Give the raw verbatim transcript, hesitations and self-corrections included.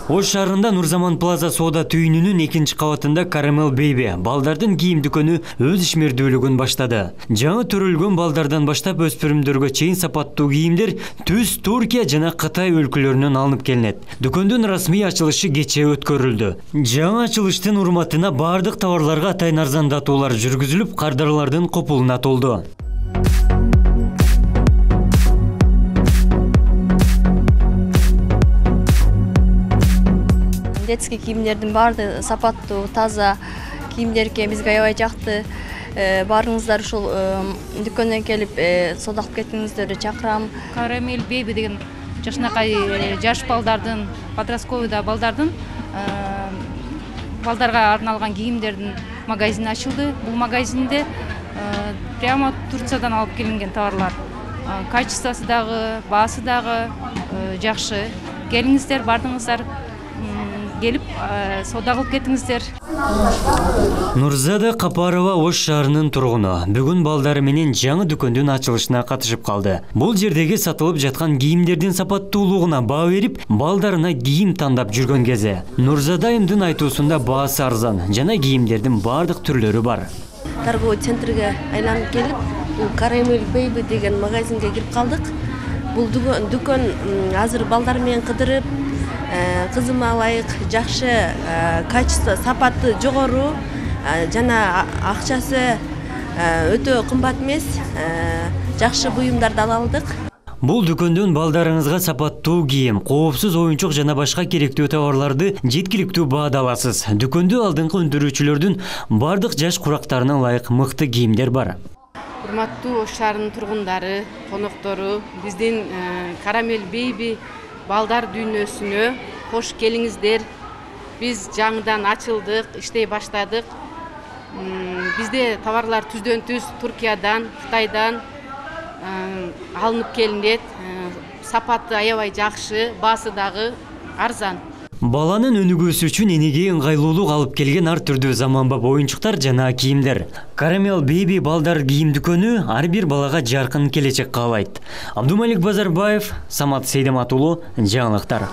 Ош шаарында Нурзаман Плаза соода түйүнүнүн экинчи кабатында Caramel Baby балдардын кийим дүкөнү өз ишмердүүлүгүн баштады. Жаңы төрөлгөн балдардан баштап өспүрүмдөргө чейин сапаттуу кийимдер түз Туркия жана Кытай өлкөлөрүнөн алынып келинет. Дүкөндүн расмий ачылышы кечээ өткөрүлдү. Жаңы ачылыштын урматына бардык товарларга атайын арзандатуулар жүргүзүлүп, кардарлардын копулуна толду. Детский кийимдердин баардыгы сапаттуу, таза кийимдерге бизге аябай жакты. Барыңыздар ушул дүкөнгө келип соода кылып кетиңиздерди чакырам. Caramel Baby деген жашынакай жаш балдардын, подростковый балдардын балдарга арналган кийимдердин магазини ачылды. Бул магазинде прямо Турциядан алып келинген товарлар. Качествосы дагы, баасы дагы жакшы. Келиңиздер, бардыңыздар. Келип соода кылып кетиңиздер. Нурзада Капарова Ош шаарынын тургуну. Бүгүн балдары менен жаңы дүкөндүн ачылышына катышып калды. Бул жердеги сатылып жаткан кийимдердин сапаттуулугуна баа берип, балдарына кийим тандап жүргөн кези. Нурзада айымдын айтуусунда баасы арзан жана кийимдердин бардык түрлөрү бар. Торговый центрге айланып келип, бул Caramel Baby деген магазинге кирип калдык. Бул дүкөн азыр балдар менен кыдырып, кызыма ылайык жакшы качество, сапаты жогору жана акчасы өтө кымбат эмес, жакшы буюмдарды ала алдык. Бул дүкөндөн балдарыңызга сапаттуу кийим, коопсуз оюнчук жана башка керектүү товарларды жеткиликтүү баада аласыз. Дүкөндө алдыңкы өндүрүүчүлөрдүн бардык жаш курактарына ылайык мыкты кийимдер бар. Урматтуу Ош шаарынын тургундары, коноктору, биздин Caramel Baby балдар дүйнөсүнө кош келиңиздер. Биз жаңыдан ачылдык, иштей баштадык. Бизде товарлар түздөн түз Туркиядан, Кытайдан алынып келинет. Сапаты аябай жакшы, баасы дагы арзан. Баланын өнүгүүсү үчүн энеге ыңгайлуулук алып келген ар түрдүү заманбап оюнчуктар жана кийимдер. Caramel Baby балдар кийим дүкөнү ар бир балага жаркын келечек каалайт. Абдумалик Базарбаев, Самат Сейдемат уулу, жаңылыктар.